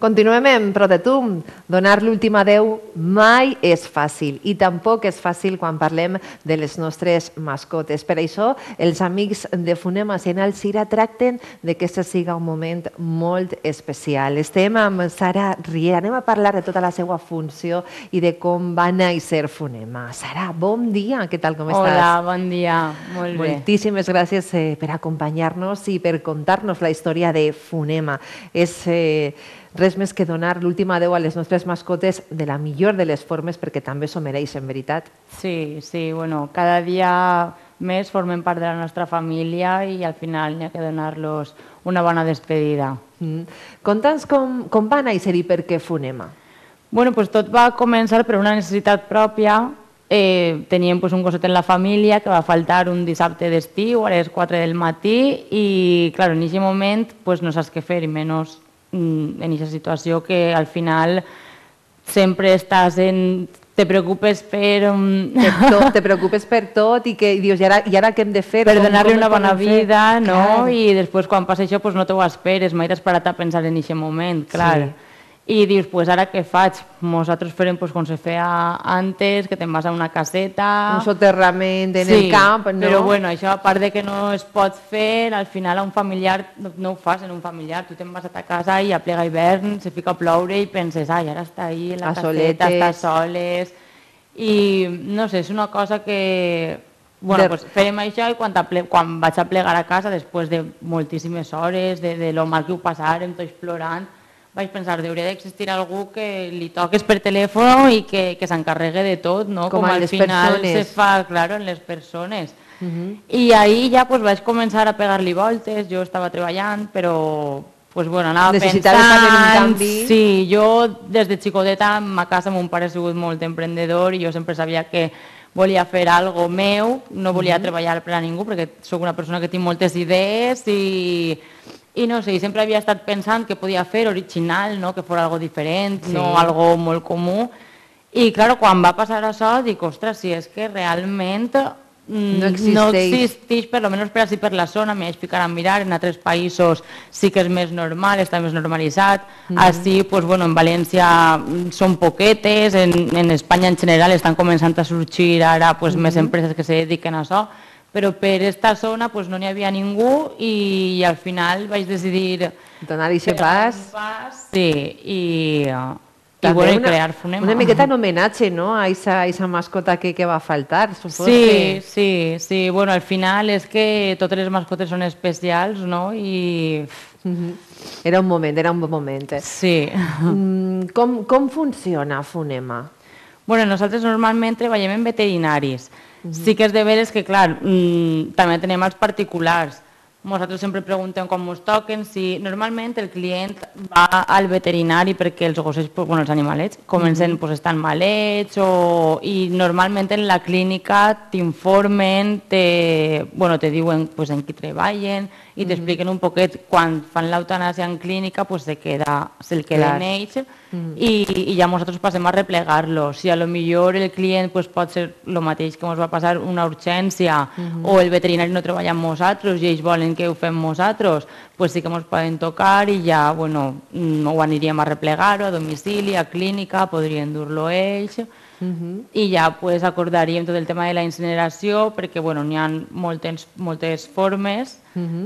Continuem en Pro de Tu. Donar l'últim adeu mai és fàcil i tampoc és fàcil quan parlem de les nostres mascotes. Per això, els amics de Fonema Senal Cira tracten de que aquest siga un moment molt especial. Estem amb Sara Riera. Anem a parlar de tota la seva funció i de com va néixer Fonema. Sara, bon dia. Què tal, com estàs? Hola, bon dia. Molt bé. Moltíssimes gràcies per acompanyar-nos i per contar-nos la història de Fonema. És res més que donar l'últim adeu a les nostres mascotes de la millor de les formes perquè també s'ho mereixen, veritat? Sí, bueno, cada dia més formen part de la nostra família i al final n'hi ha que donar-los una bona despedida. Conta'ns com va néixer i per què Fonema? Bueno, pues tot va començar per una necessitat pròpia. Teníem un gosset en la família que va faltar un dissabte d'estiu a les 4 del matí i, clar, en aquest moment no saps què fer i menys en aquesta situació que al final sempre estàs te preocupes per... Te preocupes per tot i dius, i ara què hem de fer? Per donar-li una bona vida, no? I després quan passa això no t'ho esperes, mai t'has parat a pensar en aquest moment, clar. I dius, ara què faig? Nosaltres farem com se feia antes, que te'n vas a una caseta... Un soterrament en el camp, no? Però bueno, això a part de que no es pot fer, al final a un familiar no ho fas en un familiar. Tu te'n vas a ta casa i a plega hivern, se fica a ploure i penses, ai, ara està ahí la caseta, està soles... I no sé, és una cosa que... Bueno, fèiem això i quan vaig a plegar a casa, després de moltíssimes hores, de lo mal que ho passàrem, tots plorant, vaig pensar que hauria d'existir algú que li toques per telèfon i que s'encarregue de tot, no? Com al final se fa, claro, en les persones. I ahir ja vaig començar a pegar-li voltes, jo estava treballant, però anava pensant... Sí, jo des de xicoteta a casa mon pare ha sigut molt emprendedor i jo sempre sabia que volia fer alguna cosa meu, no volia treballar per a ningú perquè sóc una persona que tinc moltes idees i no sé, sempre havia estat pensant que podia fer original, que fos algo diferent, no algo molt comú. I, clar, quan va passar això, dic, ostres, si és que realment no existeix, per almenys per així per la zona, m'hi vaig ficar a mirar, en altres països sí que és més normal, està més normalitzat. Així, en València són poquetes, en Espanya en general estan començant a sorgir ara més empreses que se dediquen a això, però per aquesta zona no n'hi havia ningú i al final vaig decidir donar-hi aquest pas. Sí, i crear Fonema. Una miqueta en homenatge a aquesta mascota que va faltar. Sí, bueno, al final és que totes les mascotes són especials, no? Era un bon moment. Sí. Com funciona Fonema? Bueno, nosaltres normalment treballem en veterinaris. Sí que és de veres que, clar, també tenim els particulars. Nosaltres sempre preguntem com ens toquen, si normalment el client va al veterinari perquè els gossets, els animalets, comencen a estar malets i normalment en la clínica t'informen, te diuen en qui treballen i t'expliquen un poquet quan fan l'eutanàsia en clínica se'l queda en ells i ja nosaltres passem a replegar-lo. Si a lo millor el client pot ser el mateix que ens va passar, una urgència o el veterinari no treballa amb nosaltres i ells volen que ho fem nosaltres, sí que ens poden tocar i ja ho aniríem a replegar-ho a domicili, a clínica, podrien dur-lo ells i ja acordaríem tot el tema de la incineració perquè n'hi ha moltes formes,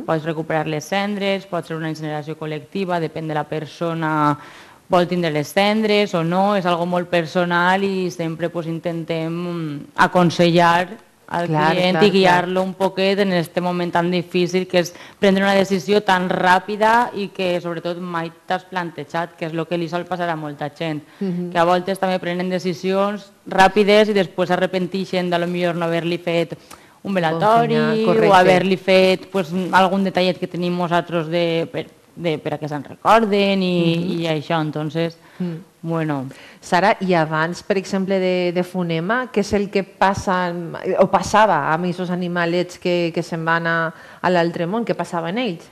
pots recuperar les cendres, pot ser una incineració col·lectiva, depèn de la persona, vol tindre les cendres o no, és algo molt personal i sempre intentem aconsellar al client i guiar-lo un poquet en aquest moment tan difícil que és prendre una decisió tan ràpida i que sobretot mai t'has plantejat, que és el que li sol passar a molta gent, que a voltes també prenen decisions ràpides i després s'arrepenteixen de potser no haver-li fet un velatori o haver-li fet algun detallet que tenim nosaltres per a que se'n recorden i això, entonces, bueno. Sara, i abans, per exemple, de Fonema, què és el que passa o passava amb aquests animalets que se'n van a l'altre món? Què passava en ells?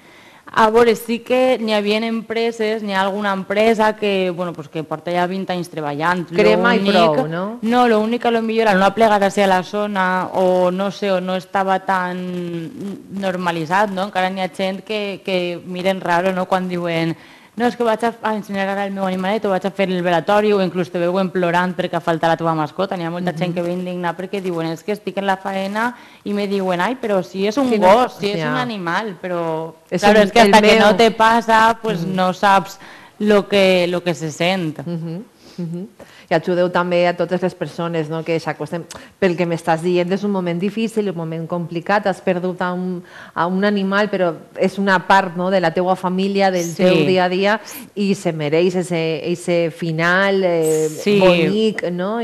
A veure, sí que n'hi havia empreses, n'hi ha alguna empresa que porta ja 20 anys treballant. Crema i prou, no? No, l'únic que potser al no aplegar-se a la zona o no sé, o no estava tan normalitzat, no? Encara n'hi ha gent que miren raro quan diuen no, és que vaig a incinerar el meu animalet o vaig a fer el velatori o inclús te veuen plorant perquè falta la teva mascota. N'hi ha molta gent que ve indignada perquè diuen és que estic en la faena i me diuen ai, però si és un gos, si és un animal, però claro, és que hasta que no te passa pues no saps lo que se sent. I ajudeu també a totes les persones que s'acosten, pel que m'estàs dient, és un moment difícil, un moment complicat, has perdut a un animal, però és una part de la teua família, del teu dia a dia, i se mereix ese final bonic, no?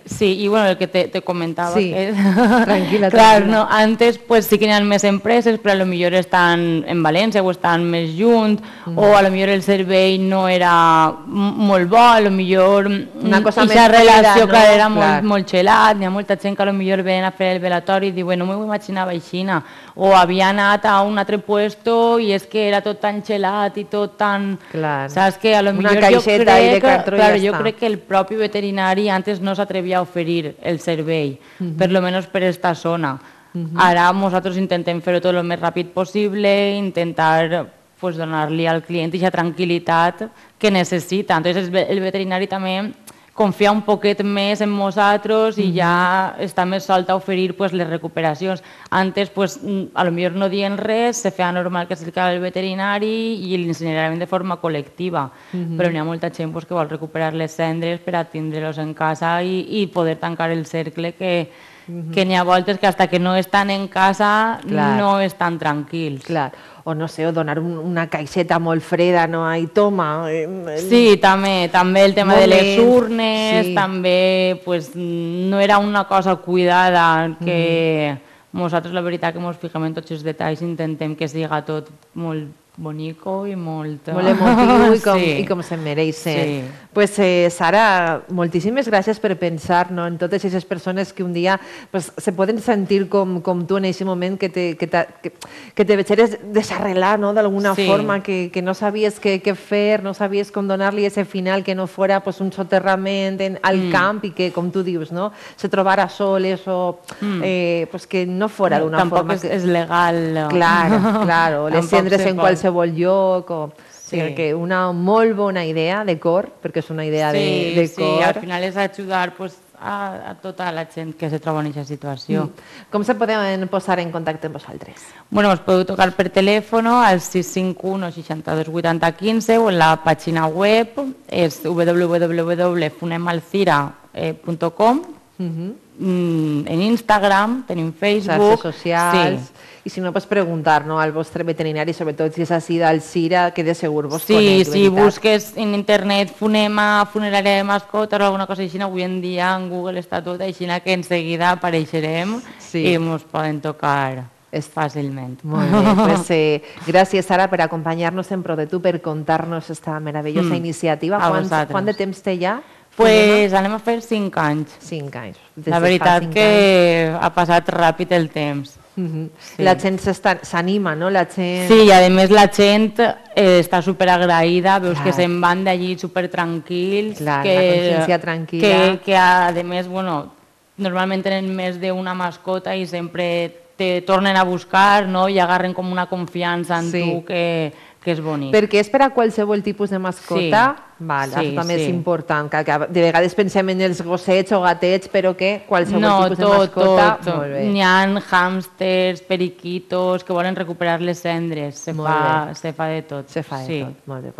Sí, i bueno, el que te comentava, tranquil·la, clar, antes pues sí que hi ha més empreses, però a lo millor estan en València o estan més junt, o a lo millor el servei no era molt bo, a lo millor aquesta relació que era molt xelat, hi ha molta gent que potser ven a fer el velatori i diuen no m'ho imaginava així, o havia anat a un altre puesto i és que era tot tan xelat i tot tan... Saps que a lo millor jo crec que el propi veterinari antes no s'atrevia a oferir el servei, per lo menos per esta zona. Ara nosaltres intentem fer-ho tot el més ràpid possible, intentar donar-li al client aquesta tranquil·litat que necessita. Entonces el veterinari també confia un poquet més en nosaltres i ja està més solt a oferir les recuperacions. Antes, a lo millor no dient res, se feia normal que s'acercava el veterinari i l'incineraven de forma col·lectiva. Però n'hi ha molta gent que vol recuperar les cendres per a tindre-los en casa i poder tancar el cercle que n'hi ha voltes que fins que no estan en casa no estan tranquils. Clar. O no sé, o donar una caixeta molt freda, no? Ai, toma. Sí, també el tema de les urnes, també no era una cosa cuidada, que nosaltres la veritat que ens fixem en tots els detalls, intentem que siga tot molt bonico i molt emotiu i com se mereix ser. Pues Sara, moltíssimes gràcies per pensar en totes aquestes persones que un dia se poden sentir com tu en aquest moment que te deixeres desarrelar d'alguna forma, que no sabies què fer, no sabies com donar-li aquest final, que no fora un soterrament al camp i que, com tu dius, se trobara soles o que no fora d'una forma... Tampoc és legal. Claro, les cendres en qualsevol lloc o... que una molt bona idea de cor, perquè és una idea de cor. Sí, al final és ajudar a tota la gent que se troba en aquesta situació. Com se poden posar en contacte amb vosaltres? Bueno, us podeu tocar per telèfon al 651 62 80 15 o en la pàgina web és www.funemalcira.com. En Instagram, tenim Facebook... Xarxes socials... I si no, pots preguntar al vostre veterinari, sobretot si és així d'Alzira, que de segur vos conec. Sí, si busques en internet Funema, funerària de mascotes o alguna cosa així, avui en dia en Google està tot així, que en seguida apareixerem i ens poden tocar fàcilment. Molt bé, pues gràcies Sara per acompanyar-nos en Pro de Tu, per contar-nos aquesta meravellosa iniciativa. Quant de temps té ja? Pues anem a fer 5 anys. 5 anys. La veritat que ha passat ràpid el temps. La gent s'anima, no? Sí, i a més la gent està superagraïda, veus que se'n van d'allí supertranquils, la consciència tranquil·la, que a més, normalment tenen més d'una mascota i sempre te tornen a buscar i agarren com una confiança en tu que és bonic. Perquè és per a qualsevol tipus de mascota, això també és important, que de vegades pensem en els gossets o gatets, però que qualsevol tipus de mascota... N'hi ha hàmsters, periquitos, que volen recuperar les cendres, se fa de tot. Se fa de tot, molt bé.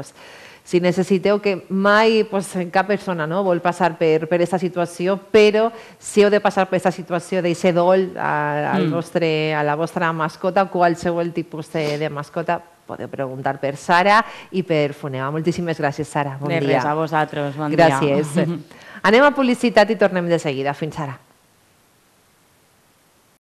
Si necessiteu, que mai cap persona vol passar per aquesta situació, però si heu de passar per aquesta situació d'aquest dol a la vostra mascota, qualsevol tipus de mascota, podeu preguntar per Sara i per Funema. Moltíssimes gràcies, Sara. Bon dia. De res, a vosaltres. Bon dia. Gràcies. Anem a publicitat i tornem de seguida. Fins ara.